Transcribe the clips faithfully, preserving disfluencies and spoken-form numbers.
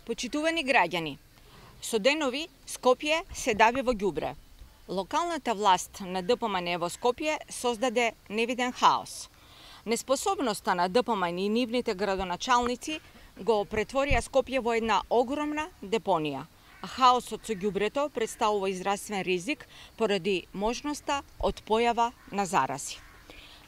Почитувани граѓани, со денови Скопје се дави во ѓубре. Локалната власт на ДПМН во Скопје создаде невиден хаос. Неспособноста на ДПМН и нивните градоначалници го претворија Скопје во една огромна депонија. Хаосот со ѓубрето представува израствен ризик поради можноста од појава на зарази.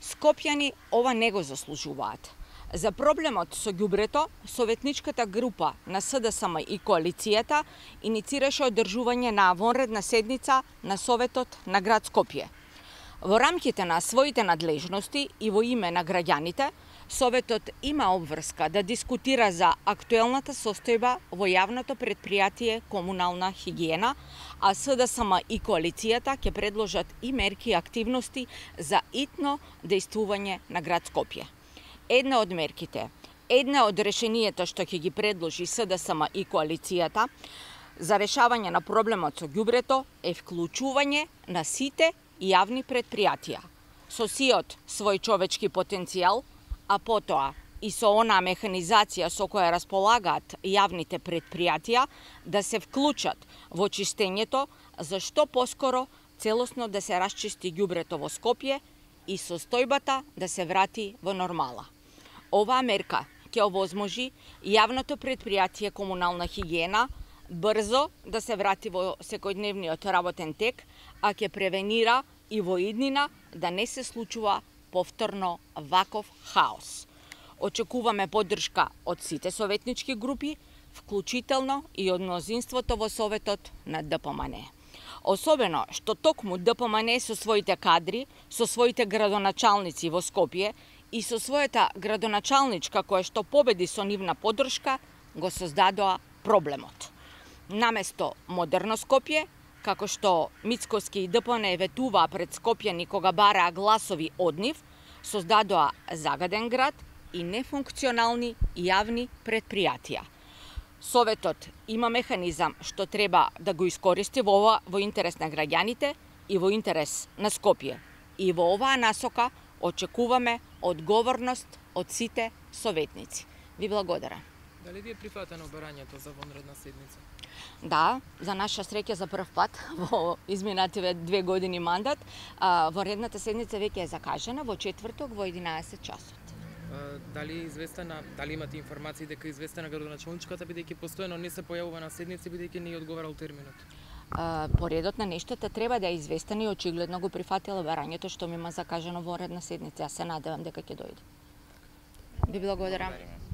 Скопјани ова не го заслужуваат. За проблемот со ѓубрето, советничката група на СДСМ и коалицијата иницираше одржување на вонредна седница на Советот на град Скопје. Во рамките на своите надлежности и во име на граѓаните, Советот има обврска да дискутира за актуелната состојба во јавното претпријатие Комунална хигиена, а СДСМ и коалицијата ќе предложат и мерки и активности за итно дејствување на град Скопје. Една од мерките, една од решенијата што ќе ги предложи СДСМ и коалицијата за решавање на проблемот со ѓубрето е вклучување на сите јавни претпријатија со сиот свој човечки потенцијал, а потоа и со онаа механизација со која располагаат јавните претпријатија да се вклучат во чистењето, за што поскоро целосно да се расчисти ѓубрето во Скопје и состојбата да се врати во нормала. Оваа мерка ќе овозможи јавното претпријатие Комунална хигиена брзо да се врати во секојдневниот работен тек, а ќе превенира и во иднина да не се случува повторно ваков хаос. Очекуваме поддршка од сите советнички групи, вклучително и од мнозинството во Советот на ДПМН. Особено што токму ДПМН со своите кадри, со своите градоначалници во Скопје и со својата градоначалничка која што победи со нивна поддршка, го создадоа проблемот. Наместо модерно Скопје, како што Мицкоски и ДПМН ветуваа пред скопјани кога бараа гласови од нив, создадоа загаден град и нефункционални јавни претпријатија. Советот има механизам што треба да го искористи во ова во интерес на граѓаните и во интерес на Скопје. И во оваа насока очекуваме одговорност од сите советници. Ви благодарам. Дали ви е прифатено барањето за вонредна седница? Да, за наша среќа за прв пат во изминативе две години мандат, а, вонредната седница веќе е закажана во четврток во единаесет часот. А, дали е известена, дали имате информации дека е известена градоначалничката бидејќи постојано не се појавува на седници бидејќи не е одговарал терминот? А, по редот на нештата треба да е известена и очигледно го прифатила барањето што ми има закажано вонредна седница. Јас се надевам дека ќе дојде. Ви благодарам.